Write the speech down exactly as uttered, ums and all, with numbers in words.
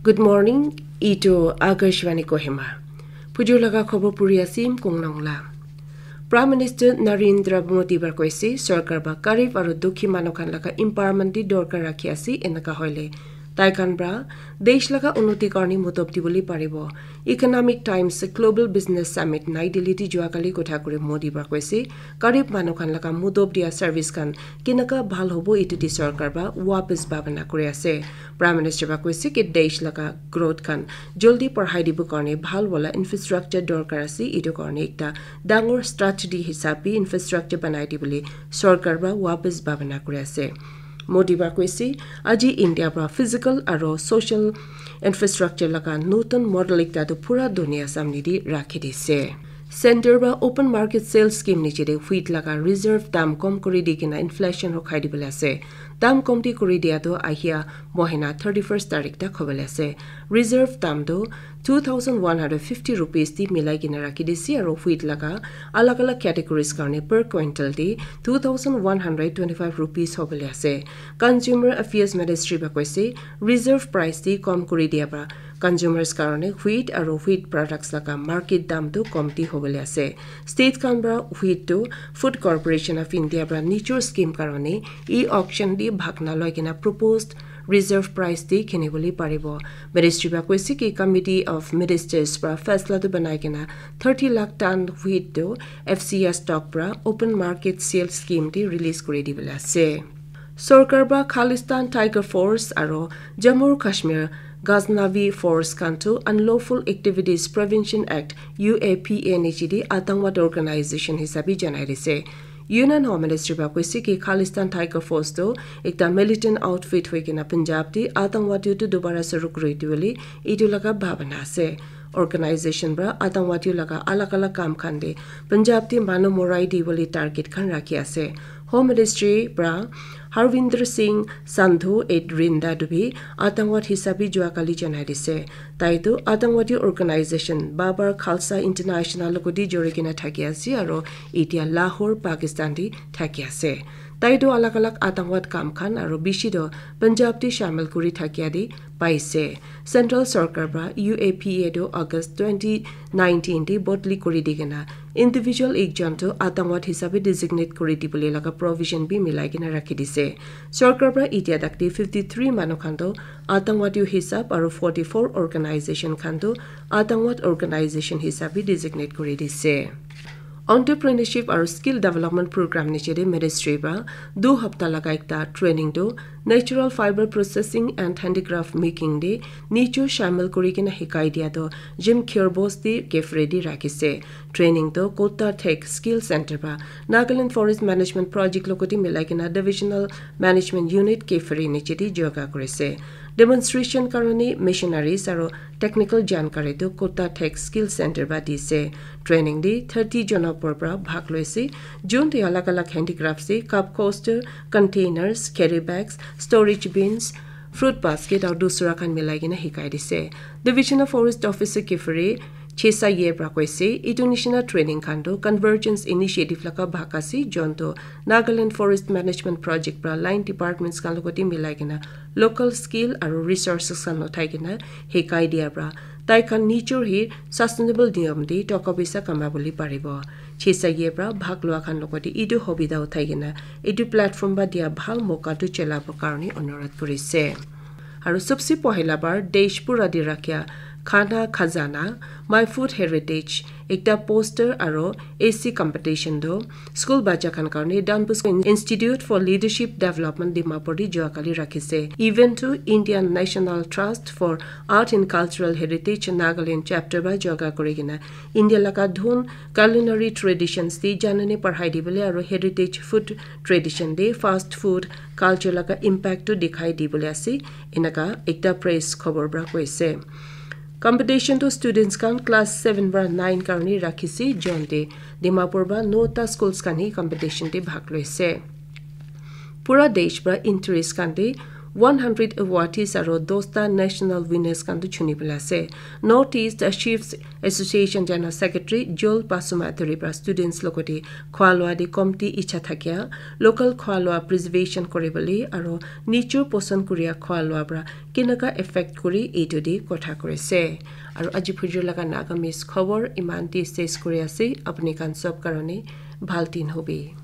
Good morning, itu Akashvani Kohima. Pujur laga khobor puri asim Kongnong la. Prime Minister Narendra Modi ba koise, sorkar ba garib aru dukhi manu khan laga empowerment di dorkar rakhi ase, enaka hoile tai khan pra desh laga unnoti karni modob dibole paribo. Economic Times Global Business Summit Nai Delhi ti jua kali kotha kuri Modi ba koise, garib manu khan laga modob dia service khan kinaka bhal hobo, itu di sorkar ba wapas bhabana kuri ase. Prime Minister ba koise ki desh laga growth khan joldi parhai dibo karne bhal wala infrastructure dorkar ase, itu karne ekta dangor strategy hisab bi infrastructure banai dibole sorkar ba wapas bhabana kuri ase. Modi ba koise, aji India pra physical aro social infrastructure laga notun model ekta tu pura dunia samne di rakhi dise. Center ba open market sales scheme niche de wheat laga reserve dam kom kuri di kena inflation rokhai dibole ase. Dam komti kuri dia tu ahia mohina thirty-first tarik tak hobole ase. Reserve dam tu two thousand one hundred fifty rupees di milai kena rakhi dise, aro wheat laga alag alag categories karne per quintal di two thousand one hundred twenty-five rupees hobole ase. Consumer Affairs Ministry ba koise, reserve price di kom kuri dia ba consumers karne wheat aro wheat products laga market dam tu komti hobole ase. State khan pra wheat tu Food Corporation of India pra nijor scheme karne e-auction di bhag na loi kena proposed reserve price di kini bole paribo. Ministry ba koise ki Committee of Ministers pra faisla tu banai kena thirty lakh ton wheat tu F C S stock pra open market sales scheme di release kuri dibole ase. Sorkar ba Khalistan Tiger Force aro Jammu Kashmir Ghaznavi Force khan tu Unlawful Activities Prevention Act, U A P A niche di atangwad organization hisabi janai dise. Union Home Ministry ba koise ki Khalistan Tiger Force tu ekta militant outfit hoi kena Punjab di atangwadi tu dobara suru kuri dibole itu laga bhabana ase. Organization pra atangwadi laga alag alag kam khan de Punjab di manu morai dibole target khan rakhi ase. Home Ministry pra Harvinder Singh Sandhu et Rinda tu bi atangwad hisabi jua kali janai dise. Tai tu atangwadi organization Babar Khalsa International logoti jori kena thaki ase aro itia Lahore, Pakistan di thaki ase. Tai tu alag alag atangwad kam khan aro bishi tu Punjab di shamil kuri thakia di paise. Central Sorkar pra U A P A tu August twenty nineteen di bodli kuri di kena individual ekjon tu atangwad hisabe designate kuri dibole laga provision bi milai kena rakhi dise. Sorkar pra itia tak di fifty-three manu khan tu atangwadi hisab aro forty-four organization khan tu atangwad organization hisabe designate kuri dise. Entrepreneurship aru Skill Development Program niche de ministry pra du hapta laga ekta training tu Natural Fiber Processing and Handicraft Making de nicho shamil kuri kena hikai dia tu Jim Kherbos di kefre di rakhi se. Training tu Kota Tech Skill Center pra Nagaland Forest Management Project logoti milai kena Divisional Management Unit kefre niche di joga kuri se. Demonstration karone machineries aru technical jankari tu Kota Tech Skill Center pra di se. Training de thirty jona upor pra bhag loise. Jun te alag alag handicraft se cup coaster, containers, carry bags, storage bins, fruit basket aru dusra khan milai kena hikai dise. Division of Forest Officer kefre Chesa Ye pra koise, itu nishina training khan tu Convergence Initiative laga bhag ase, jon tu Nagaland Forest Management Project pra line departments khan logoti milai kena local skill aru resources khan uthai kena hikai dia pra tai khan nijor hi sustainable niyam di toka paisa kama bole paribo. Chesa Ye pra bhag lua khan logoti itu hobida uthai kena itu platform ba dia bhal moka tu chelabo karone onurodh kurise. Aru sabse pohila bar desh pura di rakhya Khana Khazana, My Food Heritage, ekta poster aru essay competition tu school bacha khan karone Don Bosco Institute for Leadership Development Dimapur di jua kali rakhise. Event tu Indian National Trust for Art and Cultural Heritage Nagaland chapter ba joga kuri kena India laga dhun, culinary traditions di janani parhai dibole aru heritage food tradition de fast food culture laga impact tu dikhai dibole ase, enaka ekta press khobor pra koise. Competition tu students khan class seven pra nine karone rakhise, jon te Dimapur pra nota schools khan hi competition te bhag loise. Pura desh pra interest khan te one hundred awardees aro dosta national winners khan tu chuni bela ase. North East Chefs Association General Secretary Joel Pasuma Athuri pra students logote khwa lwa de komti icha thakia, local khwa lwa preservation kore bole aro nature poson kuria khwa lwa pra kinaka effect kuri etu de kotha kore ase. Aro aji phujur laga Nagamese khobor iman te ses kuri ase, apni khan sob karone bhal din hobi.